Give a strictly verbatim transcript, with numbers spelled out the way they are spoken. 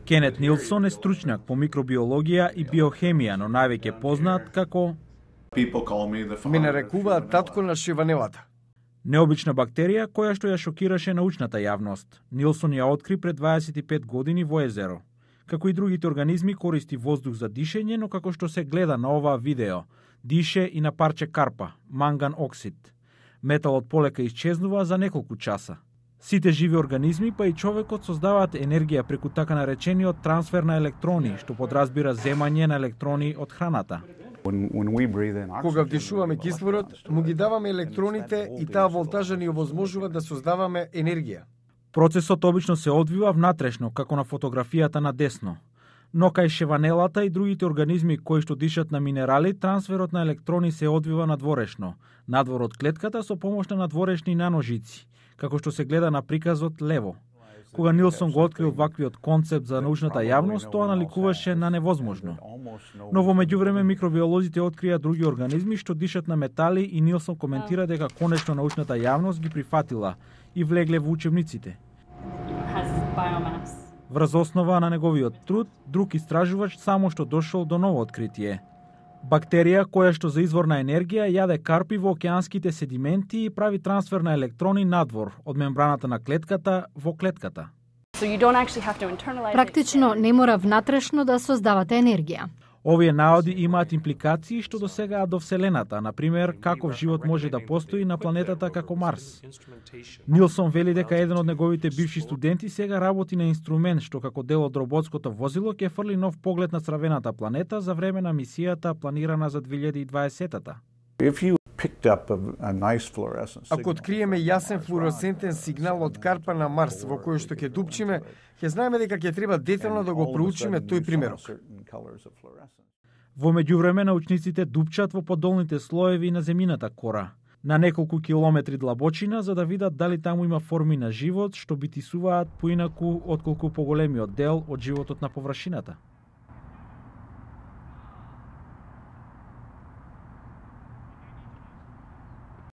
Кенет Нилсон е стручњак по микробиологија и биохемија, но највеќе познат како Ме нарекуваат татко на шиванелата. Необична бактерија која што ја шокираше научната јавност. Нилсон ја откри пред дваесет и пет години во езеро. Како и другите организми користи воздух за дишење, но како што се гледа на оваа видео, дише и на парче карпа, манган оксид. Металот полека исчезнува за неколку часа. Сите живи организми, па и човекот, создаваат енергија преку така наречениот трансфер на електрони, што подразбира земање на електрони од храната. Кога вдишуваме кислород, му ги даваме електроните и таа волтажа ни овозможува да создаваме енергија. Процесот обично се одвива внатрешно, како на фотографијата на десно. Но кај шеванелата и другите организми кои што дишат на минерали, трансферот на електрони се одвива надворешно, надвор од клетката со помош на надворешни наножици, како што се гледа на приказот лево. Кога Нилсон го открил ваквиот концепт за научната јавност, тоа наликуваше на невозможно. Но во меѓувреме микробиолозите открија други организми што дишат на метали и Нилсон коментира дека конечно научната јавност ги прифатила и влегле во учебниците. Врз основа на неговиот труд, друг истражувач само што дошол до ново откритие. Бактерија која што за извор на енергија јаде карпи во океанските седименти и прави трансфер на електрони надвор од мембраната на клетката во клетката. Практично не мора внатрешно да создавате енергија. Овие наоди имаат импликации што досегаат до Вселената, например, каков живот може да постои на планетата како Марс. Нилсон вели дека еден од неговите бивши студенти сега работи на инструмент што како дел од роботското возило ќе фрли нов поглед на црвената планета за време на мисијата планирана за две илјади и дваесета. Ако откриеме јасен флуоресцентен сигнал од карпа на Марс во кој што ќе дупчиме, ќе знаеме дека ќе треба детално да го проучиме тој примерок. Во меѓувреме научниците дупчат во подолните слоеви на земјината кора, на неколку километри длабочина, за да видат дали таму има форми на живот што битисуваат поинаку отколку поголемиот дел од животот на површината.